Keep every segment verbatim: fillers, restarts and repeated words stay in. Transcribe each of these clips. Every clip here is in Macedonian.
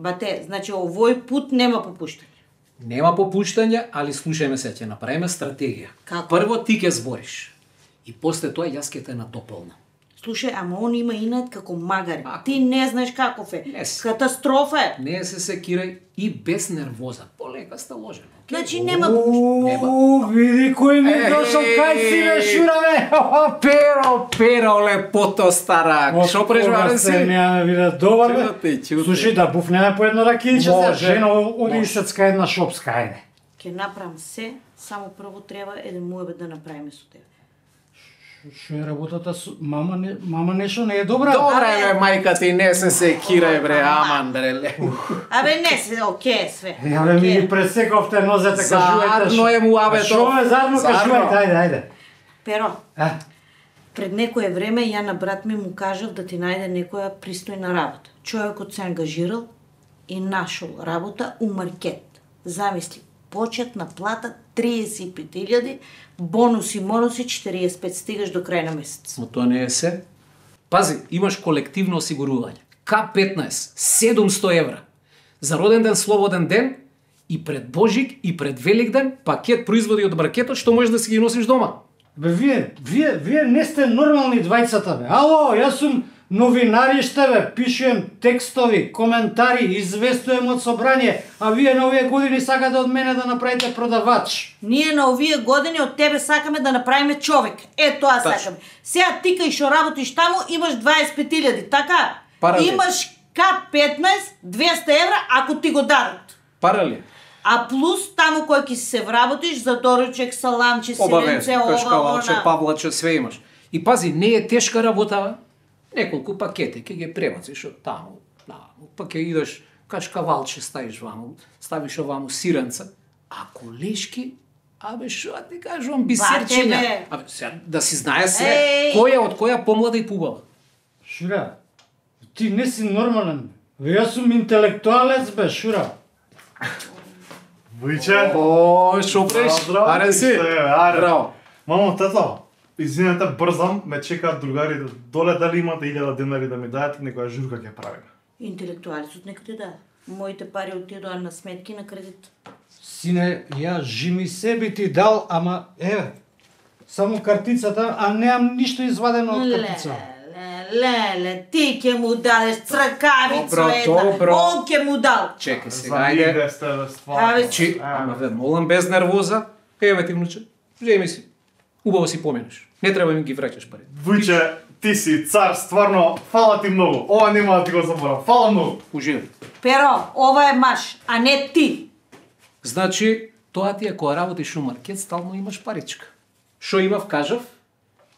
Бате, значи овој пут нема попуштање. Нема попуштање, али слушајме се, ќе направиме стратегија. Како? Прво ти ќе збориш. И после тоа јас ќе те натополнам. Слушај, ама он има инат како магари. Ти не знаеш каков е. Не се. Катастрофа е. Не се секирај и без нервоза. Полека сталожено. Значи нема попуштање. Уу, види кој ми дошол кај си, бе, Шура, бе. Перо, перо, лепото стара. Шо прежварен си? Нема виде добар, бе. Слушај, да буфнеме по едно ракијче, се жено оди исецка една шопска, ајде. Ќе направам се, само прво треба еден муебет да направиме со тебе. Шо е работата со мама не мама нешто не е добра? Добра е, бе, мајка ти, не се секирај, бре, аман, бре. Абе не се, оке све. Ја бе ми ги пресековте нозете, кажувајте. Зарно е муабето. Шо е зарно, кажувајте, ајде, ајде. Перо, А? пред некое време ја на брат ми му кажав да ти најде некоја пристојна работа. Човекот се ангажирал и нашол работа у маркет. Замисли, почетна плата триесет и пет илјади, бонуси, монуси четириесет и пет, стигаш до крај на месец. Но тоа не е се. Пази, имаш колективно осигурување. К петнаесет, седумсто евра. За роден ден, слободен ден, и пред Божик, и пред Великден, пакет производи од маркетот што можеш да си ги носиш дома. Бе, вие, вие, вие не сте нормални двајцата, бе. Ало, јас сум новинариште, бе, пишувам текстови, коментари, известувам од собрание, а вие на овие години сакате од мене да направите продавач. Ние на овие години од тебе сакаме да направиме човек. Е, тоа Тачно. сакаме. Сега ти кај што работиш таму имаш дваесет и пет илјади, така? Паралел. Имаш К петнаесет, двеста евра ако ти го дадат. Парали. А плюс таму кој ќе се вработиш за доручек, саламче, сиренце, ова, кашкавалче, она. павлаче, све имаш. И пази, не е тешка работа, бе. Неколку пакети, ќе ги пребациш од таму, таму, па ќе идеш кашкавалче ставиш ваму, ставиш оваму сиренца, а колешки, абе шо ти кажувам, бисерчиња. бе. Абе, сега, да си знае се, Еј. која од која помлада и пубава. Шура, ти не си нормален. Бе, јас сум интелектуалец, бе, Шура. Вујче. О, шо преш? Здраво, Аре си? аре. Браво. Мамо, тето, извинете, брзам, ме чекаат другарите. Доле дали имате илјада денари да ми дадете, некоја журка ќе правиме. Интелектуалецот нека ти даде. Моите пари отидоа на сметки на кредит. Сине, ја жими себе ти дал, ама, еве, само картицата, а немам ништо извадено од картица. Ле, ле, ти ќе му дадеш цркавица Добро, една. добро. Он ќе му дал. Чекај сега, За ајде. нигде сте, бе, стварно. Абе, Чи, ама ве молам без нервоза. Еве ти внуче, земи си. Убаво си поминеш. Не треба ми ги враќаш пари. Вујче, ти си цар, стварно, фала ти многу. Ова нема да ти го заборам. Фала многу. Уживај. Перо, ова е маш, а не ти. Значи, тоа ти е кога работиш у маркет, стално имаш паричка. Шо имав, кажав?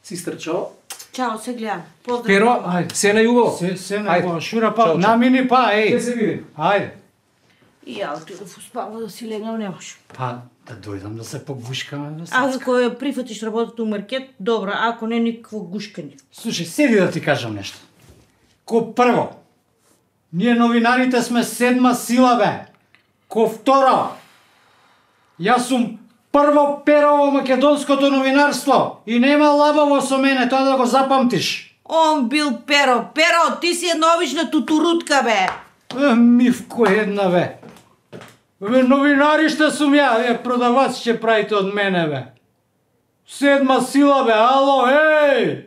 Си стрчао? Чао, се гледам. Поздрав. Перо, Ајде. се најубаво. Се, се не Ајде. го, Шура, па, Чао, чао. намини па, Ќе еј. се видим. Ајде. И ја отидов успава да си легнам, не може. Па, да дојдам да се погушкаме, бе, А Сацка. ако ја прифатиш работата у маркет, добро, ако не никакво гушкање. Слушај, седи да ти кажам нешто. Ко прво, ние новинарите сме седма сила, бе. Ко второ, јас сум прво перо во македонското новинарство и нема лабаво со мене, тоа да го запамтиш. Он бил Перо. Перо, ти си една обична тутурутка, бе. Е, мивко една, бе. Бе, новинари што сум ја, бе, продавач ќе правите од мене, бе. Седма сила, бе, ало, еј!